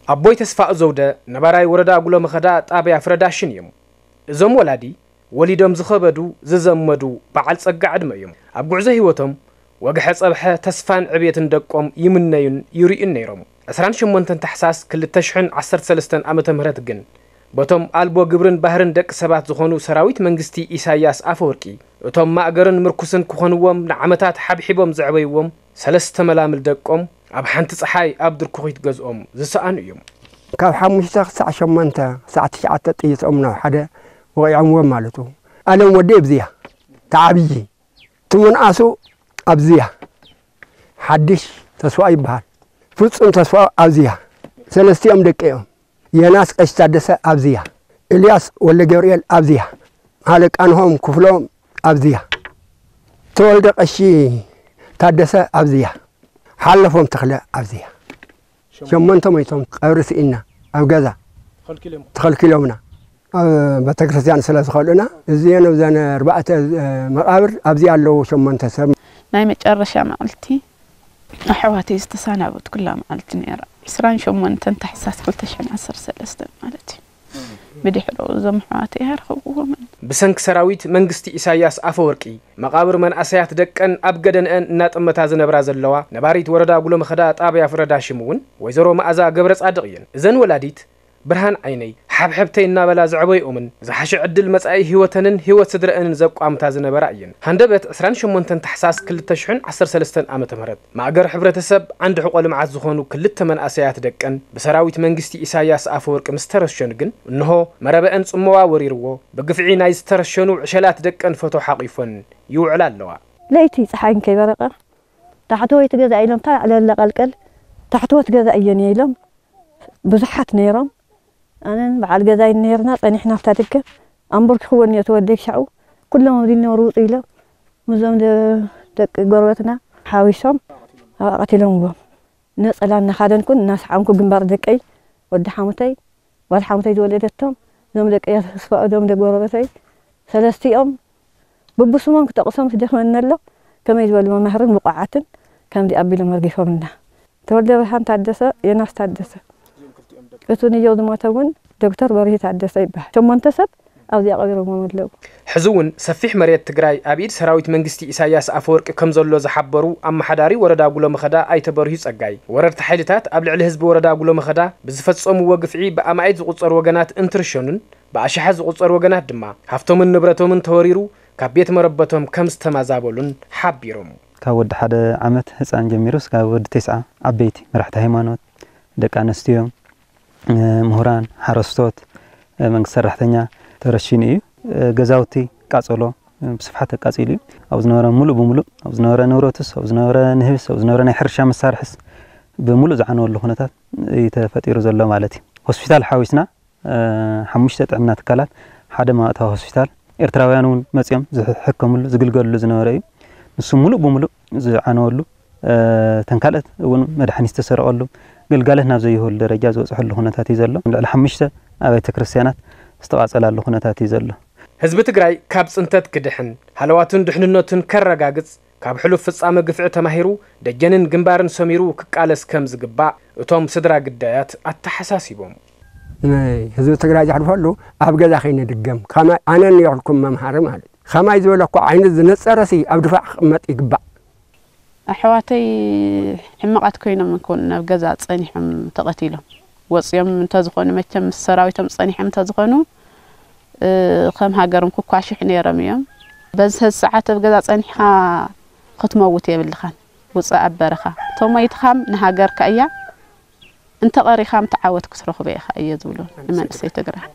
ኣቦይ ተስፋ ዘውደ ነባራይ ወረዳ ጉሎ መኸዳ ጣብያ ፍረዳሽን እዮም። እዞም ወላዲ ወሊዶም ዝኸበዱ፣ ዝዘመዱ በዓል ጸጋ ዕድመ እዮም። ኣብ ጉዕዞ ህይወቶም ወግሐ ጸብሐ ተስፋን ዕብየትን ደቆም ይምነዩን ይርእዩን ነይሮም። ዕስራን ሸሞንተን ታሕሳስ ክልተ ሽሕን ዓሰርተ ሰለስተን ዓመተ ምህረት ግን በቶም ኣልቦ ግብርን ባህርን ደቂ ሰባት ዝኾኑ ሰራዊት መንግስቲ ኢሳያስ ኣፈወርቂ፣ እቶም ማእገርን ምርኩስን ክኾንዎም ንዓመታት ሓብሒቦም ዘዕበይዎም ሰለስተ መላምል ደቆም ኣብ ሓንቲ ጸሓይ ኣብ ድርኩኺት ገዝኦም ዝሰኣኑ እዮም። ካብ ሓሙሽተ ክሳዕ ሸሞንተ ክሳዕ ትሽዓተ ጥይቶም ናብ ሓደ ወቒዖምዎም ማለት እዩ። ኣለም ወዲ ኣብዚያ ተዓብዪ ትምንኣሱ ኣብዚያ ሓድሽ ተስፋ ይበሃል። ፍጹም ተስፋ ኣብዚያ ሰለስቲኦም ደቂ እዮም። የናስ ቀሽ ታደሰ ኣብዚያ፣ ኤልያስ ወልደ ገብርኤል ኣብዚያ፣ ሃለቃ ናሆም ክፍሎም ኣብዚያ፣ ተወልደ ቀሺ ታደሰ ኣብዚያ፣ ሓለፎም ተኽለ ኣብዚያ። ሸሞንተ ሞይቶም ቀብሪ ስኢና ኣብ ገዛ ተኸልኪሎምና። ኣብ ቤተክርስትያን ስለ ዝኸልኡና እዚአን ኣብዘን ኣርባዕተ መቃብር ኣብዚ ኣለዉ ሸሞንተ ሰብ። ናይ መጨረሻ መዓልቲ ኣሕዋተይ ዝተሰናበትኩላ መዓልቲ ነይራ። ዕስራን ሸሞንተን ታሕሳስ ክልተ ሽሕን ዓሰርተ ሰለስተን ማለት እዩ። ብድሕሪኡ እዞም ኣሕዋተይ ኣይረኸብኩዎምን። ብሰንኪ ሰራዊት መንግስቲ ኢሳያስ ኣፈወርቂ መቓብር መንእሰያት ደቀን ኣብ ገደንአን እናጠመታ ዝነብራ ዘለዋ ነባሪት ወረዳ ጉሎመኸዳ ጣብያ ፍረዳሽም እውን ወይዘሮ መኣዛ ገብረ ጻድቕ እየን። እዘን ወላዲት ብርሃን ዓይነይ፣ ሓብሐብተይ እናበላ ዘዕበይኦምን ዝሓሸ ዕድል መጻኢ ህይወተንን ህይወት ስድረአንን ዘቋምታ ዝነበራ እየን። ሃንደበት ዕስራን ሸሞንተን ታሕሳስ ክልተ ሽሕን ዓሰርተ ሰለስተን ዓመተ ምህረት ማእገር ሕብረተሰብ ዓንዲ ሕቆ ልምዓት ዝኾኑ ክልተ መንእሰያት ደቀን ብሰራዊት መንግስቲ ኢሳያስ ኣፈወርቂ ምስ ተረሸኑ ግን እንሆ መረበአን ጽመዋ ወሪርዎ ብግፍዒ ናይ ዝተረሸኑ ዕሸላት ደቀን ፈቶ ሓቂፎን ይውዕላ ኣለዋ። ለይቲ ጸሓይ እንከይበረቐ ታሕተወይቲ ገዛ ኢሎም፣ እታ ዕለለ ቀልቀል ታሕተወት ገዛ እየን እየ ኢሎም ብዙሓት ነይሮም። ኣነን በዓል ገዛይን ነይርና፣ ጸኒሕና ኣብታ ደገ። ኣንበርኪኽወን እየ ተወደይ ሻዑ። ኩሎም ኣብዚ ነበሩ ውጹ ኢሎም፣ ምስዞም ደ-፣ ደቂ ጎረበትና ሓዊሶም ኣብኣ ቀቲሎምዎም። ነጸላ እናኻደንኩን እናሰዓምኩ ግንባር ደቀይ፣ ወዲ ሓሙተይ፣ ጓል ሓሙተይ ዝወለደቶም፣ እዞም ደቀይ ተስፋ፣ እዞም ደቂ ጎረበተይ፣ ሰለስቲኦም ብብስሞም ክጠቕሶም ዝደኽመኒ ኣሎ። ከመይ ዝበሉ መማህርን ብቑዓትን ከምዚ ኣቢሎም ኣርጊፎምና። ተወልደ ብርሃን ታደሰ፣ ዮናስ ታደሰ። እቲ ንየው ዝሞተ እውን ዶክተር በርሂ ታደሰ ይበሃል። ሸሞንተ ሰብ ኣብዚኣ ቀቢሮምዎም ኣለዉ። ሕዚ እውን ሰፊሕ መሬት ትግራይ ኣብ ኢድ ሰራዊት መንግስቲ ኢሳያስ ኣፈወርቂ ከም ዘሎ ዝሓበሩ ኣመሓዳሪ ወረዳ ጉሎመኸዳ ኣይተ በርሂ ጸጋይ፣ ወረርቲ ሓይልታት ኣብ ልዕሊ ህዝቢ ወረዳ ጉሎመኸዳ ብዝፈጸምዎ ግፍዒ ብኣማኢት ዝቑጸሩ ወገናት እንትርሸኑን ብኣሽሓት ዝቑጸሩ ወገናት ድማ ሃፍቶምን ንብረቶምን ተወሪሩ ካብ ቤት መረበቶም ከም ዝተማዛበሉን ሓቢሮም። ካብ ወዲ ሓደ ዓመት ህፃን ጀሚሩ እስካብ ወዲ ተስዓ ዓበይቲ መራሕቲ ሃይማኖት፣ ደቂ ኣንስትዮ፣ እ፣ ምሁራን፣ ሓረስቶት፣ እ፣ መንግስቲ ሰራሕተኛ ተረሺኑ እዩ። እ፣ ገዛውቲ ቃጸሎ፣ እ፣ ብስፍሓት ተቃጺሉ እዩ። ኣብ ዝነበረ ሙሉእ ብሙሉእ፣ ኣብ ዝነበረ ንብረቱስ፣ ኣብ ዝነበረ ንህብስ፣ ኣብ ዝነበረ ናይ ሕርሻ መሳርሕስ ብሙሉእ ዝዓነወሉ ኩነታት እዩ ተፈጢሩ ዘሎ ማለት እዩ። ሆስፒታል ሓዊስና፣ እ፣ ሓሙሽተ ጥዕና ትካላት፣ ሓደ መባእታዊ ሆስፒታል፣ ኤርትራውያን እውን መጺኦም ዝሕከምሉ፣ ዝግልገሉሉ ዝነበረ እዩ። ንሱ ሙሉእ ብሙሉእ ዝዓነወሉ፣ እ፣ እተን ካልኦት እውን መድሓኒት ዝተሰረቐሉ፣ ግልጋሎት ናብ ዘይህበሉ ደረጃ ዝበፅሐሉ ኩነታት እዩ ዘሎ። ልዕሊ ሓሙሽተ ኣብያተ ክርስትያናት ዝተቓፀላሉ ኩነታት እዩ ዘሎ። ህዝቢ ትግራይ ካብ ፅንተት ክድሕን፣ ሃለዋቱን ድሕንነቱን ከረጋግፅ፣ ካብ ሕሉፍ ፍጻመ ግፍዒ ተማሂሩ፣ ደጀንን ግንባርን ሰሚሩ ክቃለስ ከም ዝግባእ እቶም ስድራ ግዳያት ኣተሓሳሲቦም። ንህዝቢ ትግራይ ዘሕልፈሉ ኣብ ገዛ ከይንድገም፣ ከመይ ኣነ እኒኦልኩም መምሃሪ ማለት እዩ። ከማይ ዝበለ እኮ ዓይነት ዝነጸረሲ ኣብ ድፋዕ ክቕመጥ ይግባእ። ኣሕዋተይ ሕማቓት ኮይኖም ይኮኑ ናብ ገዛ ጸኒሖም ተቐቲሎም። ወጺኦም እንተዝኾኑ መቸም ምስ ሰራዊቶም ጸኒሖም እንተዝኾኑ፣ እ፣ ከም ሃገሮም ክኳሽሑ ነይሮም እዮም። በዚ ሰዓት ኣብ ገዛ ጸኒሕኻ ክትመውት የብልኻን። ውጻእ ኣብ በረኻ። ተሞይትኻም ንሃገርካ እያ፣ እንተቐሪኻም ተዓወት ክትረኽቦ ኢኻ እየ ዝብሎ ንመንእሰይ ትግራይ።